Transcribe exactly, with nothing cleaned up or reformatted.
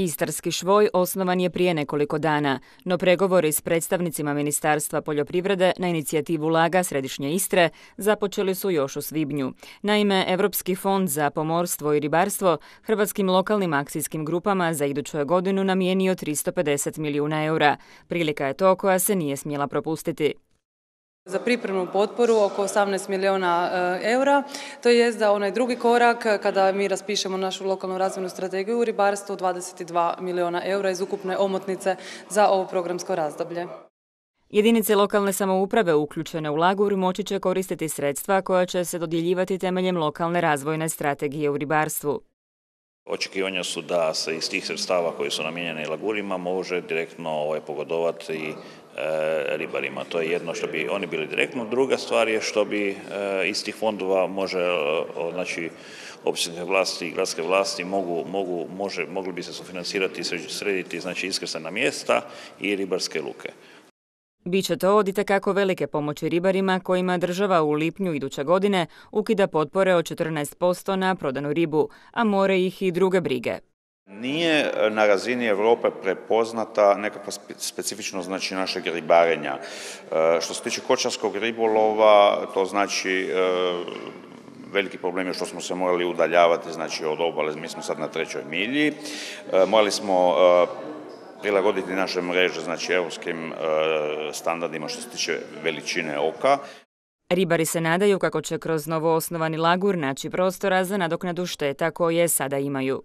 Istarski švoj osnovan je prije nekoliko dana, no pregovori s predstavnicima Ministarstva poljoprivrede na inicijativu Laga Središnje Istre započeli su još u svibnju. Naime, Europski fond za pomorstvo i ribarstvo hrvatskim lokalnim akcijskim grupama za iduću godinu namijenio tristo pedeset milijuna eura. Prilika je to koja se nije smjela propustiti. Za pripremnu potporu oko osamnaest milijuna eura, to je za onaj drugi korak kada mi raspišemo našu lokalnu razvojnu strategiju u ribarstvu dvadeset dva milijuna eura iz ukupne omotnice za ovo programsko razdoblje. Jedinice lokalne samouprave uključene u Lagur moći će koristiti sredstva koja će se dodjeljivati temeljem lokalne razvojne strategije u ribarstvu. Očekivanja su da se iz tih sredstava koji su namijenjeni Lagurima može direktno ovaj, pogodovati i e, ribarima. To je jedno što bi oni bili direktno. Druga stvar je što bi e, iz tih fondova može, e, znači, općinske vlasti i gradske vlasti mogu, mogu, može, mogli bi se sufinancirati i srediti znači, iskrcajna mjesta i ribarske luke. Biće to od itekako velike pomoći ribarima kojima država u lipnju iduće godine ukida potpore od četrnaest posto na prodanu ribu, a more ih i druge brige. Nije na razini Europe prepoznata nekakva specifičnost znači, našeg ribarenja. Što se tiče kočarskog ribolova, to znači veliki problem je što smo se morali udaljavati znači, od obale, mi smo sad na trećoj milji. Morali smo prilagoditi naše mreže, znači europskim e, standardima što se tiče veličine oka. Ribari se nadaju kako će kroz novo osnovani Lagur naći prostora za nadoknadu šteta koje sada imaju.